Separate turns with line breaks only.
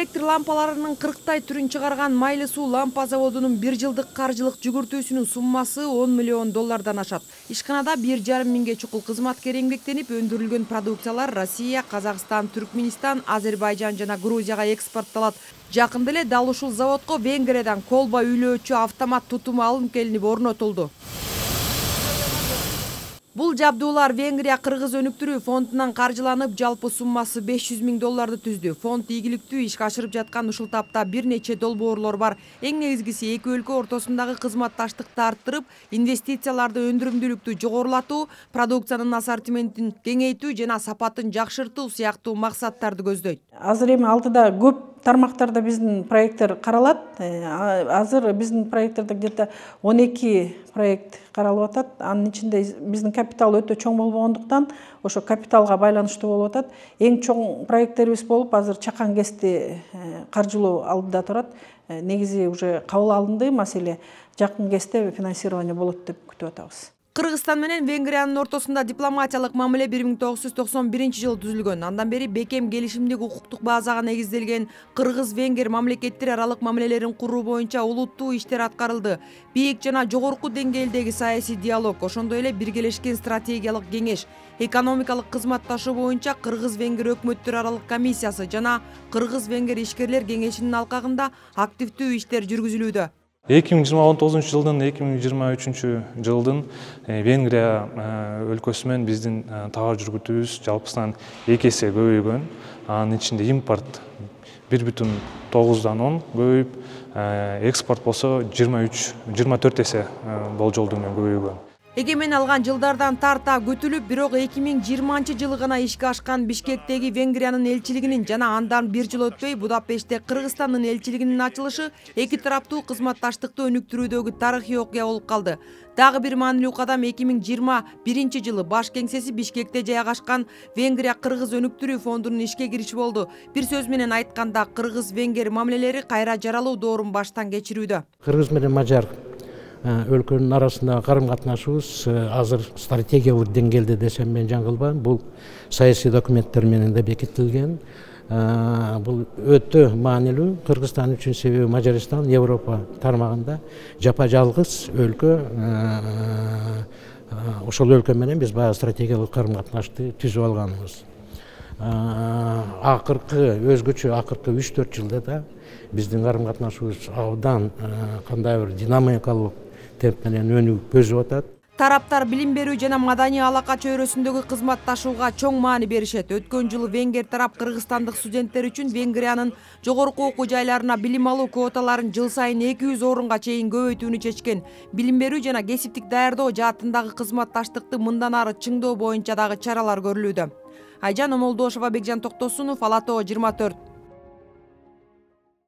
электр лампаларынын 40 түрүн чыгарган Майлы суу лампа заводунун 1 жылдык каржылык жүгүртүүсүнүн суммасы $10 миллион ашат. Ишканада 1,5 миңге чукул кызматкер эмгектенип, өндүрүлгөн продукциялар Россия, Казакстан, Түркмөнстан, Азербайжан жана Грузияга экспорттолот. Жакында эле дал ушул заводко Венгриядан колба үйлөөчү автомат тутуму алынып келинип орнотулду. Бул жабдуулар Венгрия Кыргыз өнүктүрүү фондунан каржыланып, жалпы суммасы $500 миң түздү. Фонд ийгиликтүү ишке ашырып жаткан ушул тапта бир нече долбоорлор бар. Эң негизгиси эки өлкө ортосундагы кызматташтыкты арттырып, инвестицияларды өндүрүмдүүлүктү жогорулатуу, продукциянын ассортиментин кеңейтүү жана сапатын жакшыртуу сыяктуу максаттарды көздөйт.
Азыр эми алдыда көп тармактарда биздин проекттер каралат. Азыр биздин проекттерде где-то 12 проект каралып атат. Анын ичинде биздин капитал өтө чоң болгондуктан ошо капиталга байланыштуу болуп атат. Эң чоң проекттерибиз болуп, азыр Чакан КЭСти каржылоо алдыда турат. Негизи уже кабыл алынды маселе. Жакын кезде финансирование болот деп күтүп атабыз.
Кыргызстан менен Венгриянын ортосунда дипломатиялык мамиле 1991 түзүлгөн. Андан бери бекем келишимдик укуктук базага негизделген кыргыз-венгер мамлекеттер аралык мамилелерин куруу боюнча улуттуу иштер аткарылды. Бийик жана жогорку деңгээлдеги саясий диалог, ошондой эле биргелешкен стратегиялык кеңеш, экономикалык кызматташуу боюнча кыргыз-венгер өкмөттөр аралык комиссиясы жана кыргыз-венгер ишкерлер кеңешинин алкагында активдүү иштер жүргүзүлүүдө.
2029 жылдын 2023 жылдын Венгрия өлкөсү менен биздин товар жүргүтүүбүз жалпысынан 2 эсе көбөйгөн. Анын ичинде импорт 1,9 көбөйүп, экспорт болсо 24 эсе болжолдуу менен көбөйгөн.
Эгемен алган жылдардан тарта күтүлүп, бирок 2020 жылы гана ишке ашкан Бишкектеги Венгриянын элчилигинин жана андан бир жыл өтпөй Будапештте Кыргызстандын элчилигинин ачылышы эки тараптуу кызматташтыкты өнүктүрүүдөгү тарыхый окуя болуп калды. Дагы бир маанилүү кадам 2021 жылы баш кеңсеси Бишкекте жайгашкан Венгрия Кыргыз өнүктүрүү фондунун ишке кириши болду. Бир сөз менен айтканда, кыргыз-венгер мамилелери кайра жаралуу доорун баштан кечирүүдө.
Кыргыз менен Мажар өлкөнүн арасындагы карым-катнашыбыз азыр стратегиялык деңгээлде десем мен жаңылбайм. Бул саясий документтер менен да бекитилген. Бул өтө маанилүү Кыргызстан үчүн, себеби Мажарстан Европа тармагында жапа жалгыз өлкө. Ошол өлкө менен биз баягы стратегиялык карым-катнашты түзүп алганбыз. Өзгөчө акыркы 3-4 жылда да биздин карым-катнашыбыз абдан кандай бир динамикалык темп менен өнүгүп өсүп атат.
Тараптар билим берүү жана маданий алака чөйрөсүндөгү кызматташууга чоң маани беришет. Өткөн жылы венгер тарап кыргызстандык студенттер үчүн Венгриянын жогорку окуу жайларына билим алуу квоталарын жыл сайын 200 орунга чейин көбөйтүүнү чечкен. Билим берүү жана кесиптик даярдоо жаатындагы кызматташтыкты мындан ары чыңдоо боюнча дагы чаралар көрүлүүдө. Айжан Омолдошова, Бекжан Токтосунов, Ала Тоо 24.